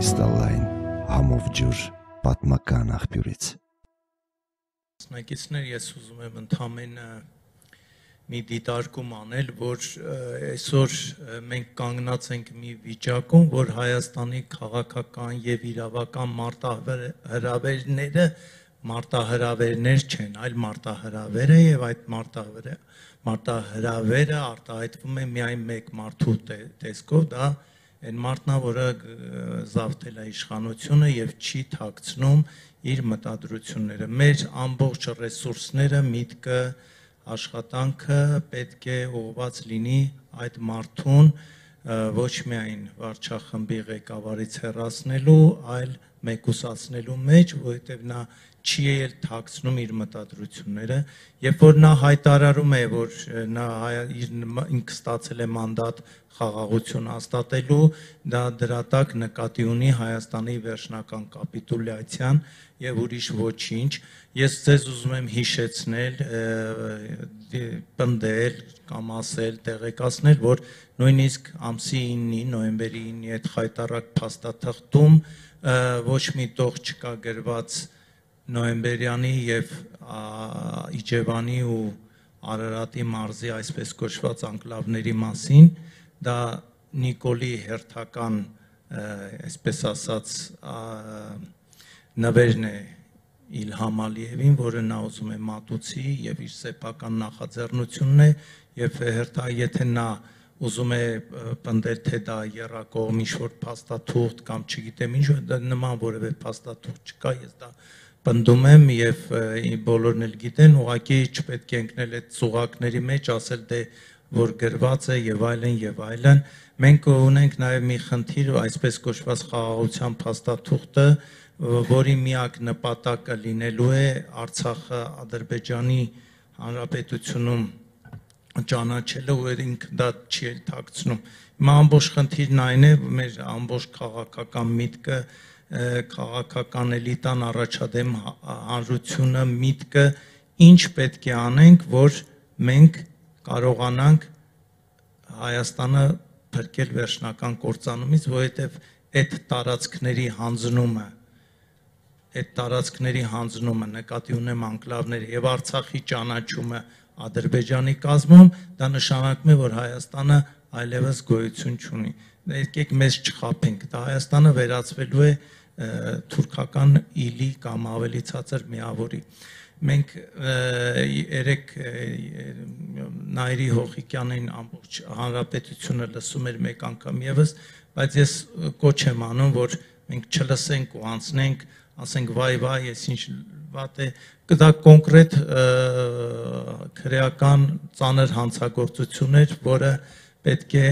Կրիստալային համով ջուր պատմական աղբյուրից։ Մասնակիցներ, ես ուզում եմ ընդամենը մի դիտարկում անել, որ այսօր մենք կանգնած ենք մի վիճակում, որ Հայաստանի քաղաքական եւ իրավական մարտահրավերներ չեն, այլ մարտահրավեր է եւ այդ մարտահրավերը արտահայտվում է միայն մեկ մարդու տեսքով, դա այն մարդն է, որը զավթել է իշխանությունը եւ չի թաքցնում իր մտադրությունները։ Մեր ամբողջ ռեսուրսները, միտքը, աշխատանքը պետք է ուղղված լինի այդ մարդուն ոչ միայն վարչախմբի ղեկավարից հեռացնելու, այլ մեկուսացնելու մեջ, որովհետև նա չի էլ թաքցնում իր մտադրությունները, երբ որ նա հայտարարում է, որ նա ինքը ստացել է մանդատ խաղաղություն հաստատելու, դա դրա տակ նկատի ունի Հայաստանի վերջնական կապիտուլյացիան եւ ուրիշ ոչինչ։ Ես ձեզ ուզում եմ հիշեցնել, պնդել կամ ասել, տեղեկացնել, որ նույնիսկ ամսի 9-ի, նոյեմբերի 9-ի այդ խայտառակ փաստաթղթում ոչ մի տող չկա գրված նոյեմբերյանի եւ Իջևանի ու Արարատի մարզի այսպես կոչված անկլավների մասին, դա Նիկոլի հերթական, այսպես ասած, նվերն է Իլհամ Ալիևին, որը նա ուզում է մատուցի եւ իր սեփական նախաձեռնությունն է եւ եթե նա ուզում է պնդել, թե դա եռակողմ ինչ-որ փաստաթուղթ կամ չգիտեմ ինչ, դա նման որևէ փաստաթուղթ չկա, ես դա պնդում եմ եւ բոլորն էլ գիտեն, ուղղակի չպետք է ընկնել այդ ծուղակների մեջ, ասել դե որ գրված է եւ այլն եւ այլն։ Մենք ունենք նաեւ մի խնդիր, այսպես կոչված խաղաղության փաստաթուղթը, որի միակ նպատակը լինելու է Արցախը Ադրբեջանի Հանրապետությունում ճանաչելը, ու ինքը դա չի էլ թաքցնում։ Հիմա ամբողջ խնդիրն այն է, մեր ամբողջ քաղաքական միտքը, քաղաքական էլիտան, առաջադեմ հանրությունը, միտքը, ինչ պետք է անենք, որ մենք կարողանանք Հայաստանը փրկել վերջնական կործանումից, որովհետև այդ տարածքների հանձնումը, նկատի ունեմ անկլավները եւ Արցախի ճանաչումը Ադրբեջանի կազմում, դա նշանակում է, որ Հայաստանը այլևս գոյություն չունի։ Եկեք մեզ չխաբենք, դա Հայաստանը վերածվելու է թուրքական իլի կամ ավելի ցածր միավորի։ Մենք երեք Նայիրի Հոխիկյանին ամբողջ հանրապետությունը լսում էր մեկ անգամ եւս, բայց ես կոչ եմ անում, որ մենք չլսենք ու անցնենք, ասենք վայ, ես ինչ վատ է, դա կոնկրետ քրեական ծանր հանցագործություն էր, որը պետք է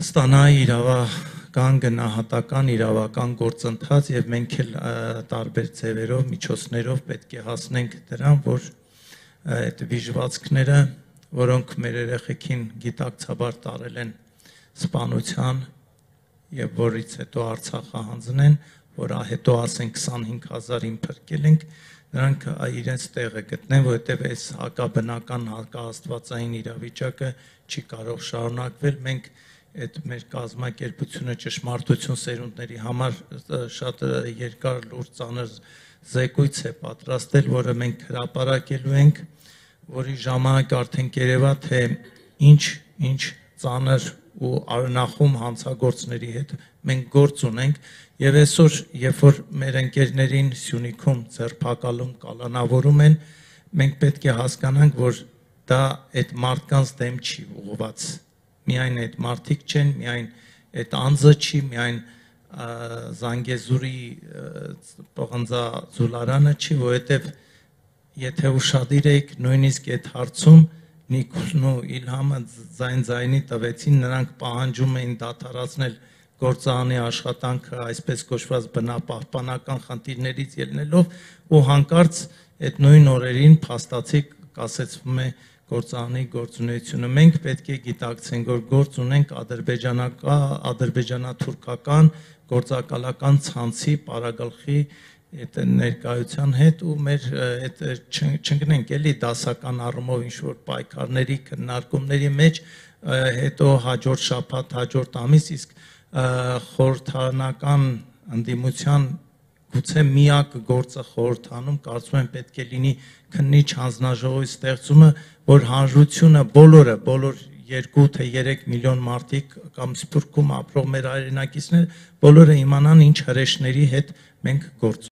ստանա իրավական, գնահատական, իրավական գործընթաց եւ մենք էլ տարբեր ձևերով, միջոցներով պետք է հասնենք դրան, որ այդ վիժվածքները, որոնք մեր երեխեքին գիտակցաբար տարել են սպանության եւ որից հետո Արցախը հանձնեն, որ հետո ասեն 25000-ին փրկել ենք, նրանք իրենց տեղը գտնեն, որովհետեւ այս հակաբնական, հակաաստվածային իրավիճակը չի կարող շարունակվել։ Մենք այդ մեր կազմակերպությունը ճշմարտություն սերունդների համար շատ երկար, լուրջ, ծանր զեկույց է պատրաստել, որը մենք հրապարակելու ենք, որի ժամանակ արդեն կերևա, թե ինչ ծանր ու արնախում հանցագործների հետ մենք գործ ունենք եւ այսօր, երբ որ մեր ընկերներին Սյունիքում ձերբակալում, կալանավորում են, մենք պետք է հասկանանք, որ դա այդ մարդկանց դեմ չի ուղղված։ Միայն այդ մարդիկ չեն, միայն այդ անձը չի, միայն Զանգեզուրի պղնձաձուլարանը չի, որովհետև եթե ուշադիր եք, նույնիսկ այդ հարցում Նիկոլն ու Իլհամը ձայնի տվեցին, նրանք պահանջում էին դադարեցնել գործարանի աշխատանքը, այսպես կոչված բնապահպանական խնդիրներից ելնելով, ու հանկարծ այդ նույն օրերին փաստացի կասեցվում է գործարանի գործունեությունը։ Մենք պետք է գիտակցենք, որ գործ ունենք ադրբեջանա-թուրքական գործակալական ցանցի պարագլխի ներկայության հետ ու մեր չընկնենք էլի դասական առումով ինչ-որ պայքարների, քննարկումների մեջ, հետո հաջորդ շաբաթ, հաջորդ ամիս, իսկ խորհրդանական ընդդիմության գուցե միակ գործը խորհրդանում կարծում եմ պետք է լինի քննիչ հանձնաժողովի ստեղծումը, որ հանրությունը բոլոր 2 թե 3 միլիոն մարդիկ կամ Սփյուռքում ապրող մեր հայրենակիցներ բոլորը իմանան ինչ հրեշների հետ մենք գործ